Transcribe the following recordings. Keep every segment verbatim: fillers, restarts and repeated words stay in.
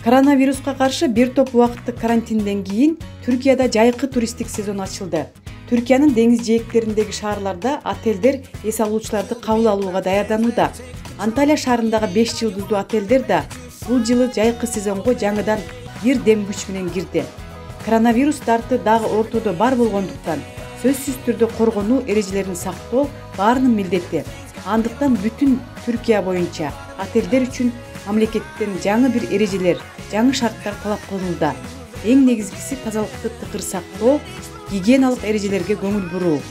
Коронавируска каршы бир топ убакыттык карантинден кийин Түркияда жайкы туристтик сезон ачылды. Түркиянын деңиз жээктериндеги шаарларда отелдер эс алуучуларды кабыл алууга даярданууда. Анталия шаарындагы беш жылдыздуу отелдер да бул жылы жайкы сезонго жаңыдан бир дем күч менен кирди. Коронавирус дарты дагы ортодо бар болгондуктан сөзсүз түрдө коргонуу эрежелерин сактоо баарынын милдети. Андыктан бүтүн Түркия боюнча отелдер үчүн мамлекеттен жаңы бир эрежелер, жаңы шарттар талап кылынууда. Эң негизгиси тазалыкты тыкыр сактоо, гигиеналык эрежелерге көңүл буруу.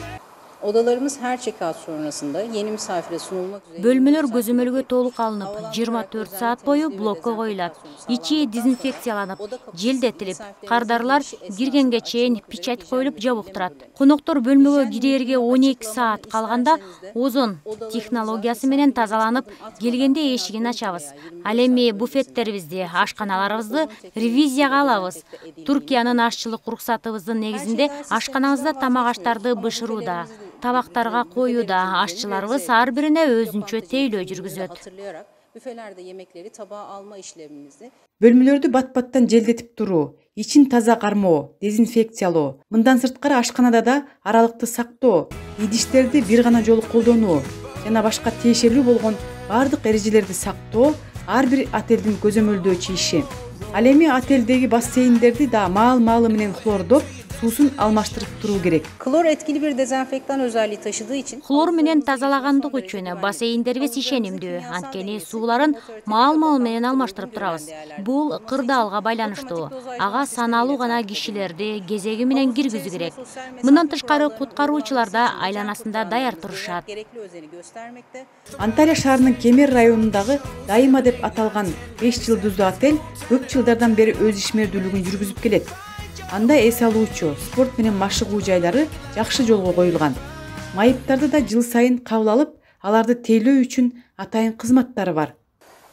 Odalarımız her check-out sonrasında yeni misafire sunulmak üzere... Bölmelер көзөмөлгө толук алынып, жыйырма төрт саат бою блокко коюлат. Ичи дезинфекцияланып, желдетилип, кардарлар киргенге чейин печать коюлуп жабык турат. Коноктор бөлмөгө кирерге он эки саат калганда озон технологиясы менен тазаланып, келгенде эшигин ачабыз. Ал эми буфеттерибизди, ашканаларыбызды ревизияга алабыз. Түркиянын ашчылык уруксатыбыздын негизинде ашканабызда тамак аштарды бышырууда, табактарга коюуда ашчыларыбыз ар бирине өзүнчө тейлөө жүргүзөт. Бөлмөлөрдү бат-баттан желдетип туруу, ичин таза кармоо, дезинфекциялоо, мындан сырткары ашканада да аралыкты сактоо, идиштерди бир гана жолу колдонуу жана башка тиешелүү болгон бардык эрежелерди сактоо ар бир отелдин көзөмөлдөөчү иши. Ал эми отелдеги бассейндерди да маал-маалы менен хлордоп, суусун алмаштырып туруу керек. Klor etkili bir dezenfektan özelliği taşıdığı için Хлор менен тазалагандык үчүн бассейндерибиз ишенимдүү, анткени сууларын маал-маал менен алмаштырып турабыз. Бул кырдаалга байланыштуу. Ага саналуу гана кишилерди кезеги менен киргизүү керек. Мындан тышкары куткаруучулар да айланасында даяр турушат. Анталия шаарынын Кемер районундагы Дайыма деп аталган беш жылдыздуу отель көп жылдардан бери өз ишмердүүлүгүн жүргүзүп келет. Анда эс алуучу, спорт менен машыгуу жайлары жакшы жолго коюлган. Майыптарды да жыл сайын кабыл алып, аларды тейлөө үчүн атайын кызматтары бар.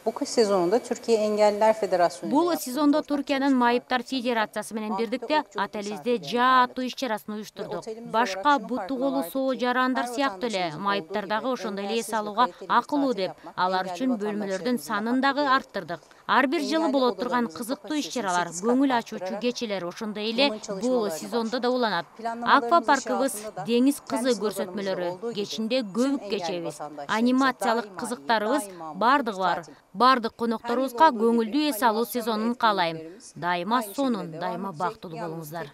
bu kış sezonunda Türkiye Engelliler Federasyonu Бул сезондо Түркиянын Майыптар Федерациясы менен бирдикте отелибизде жааттуу иш-чарасын уюштурдук. Башка буту колу соо жарандар сыяктуу эле майыптар дагы ошондой эле эс алууга акылуу деп, алар үчүн бөлмөлөрдүн санын дагы арттырдык. Ар бир жылы болот турган кызыктуу иш-чаралар, көңүл ачуучу кечелер ошондой эле бул сезондо да уланат. Аквапаркыбыз деңиз кызы көрсөтмөлөрү, кечинде көбүк кечебиз, анимациялык кызыктарыбыз бардыгы бар. Бардык конокторубузга көңүлдүү эс алуу сезонун каалайм. Дайыма сонун, дайыма бактылуу болуңуздар.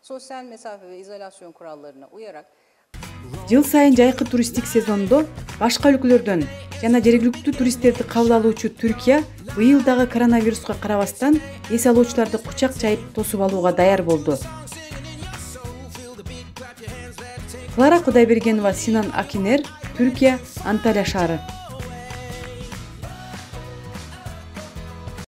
Sosyal mesafe ve izolasyon kurallarına uyarak Жыл сайын жайкы туристтик сезондо башка өлкөлөрдөн жана жергиликтүү туристтерди кабыл алуучу Түркия быйыл дагы коронавируска карабастан эс алуучуларды кучак жайып тосуп алууга даяр болду. Клара Кудайбергенова, Синан Акинер, Түркия, Анталия шаары.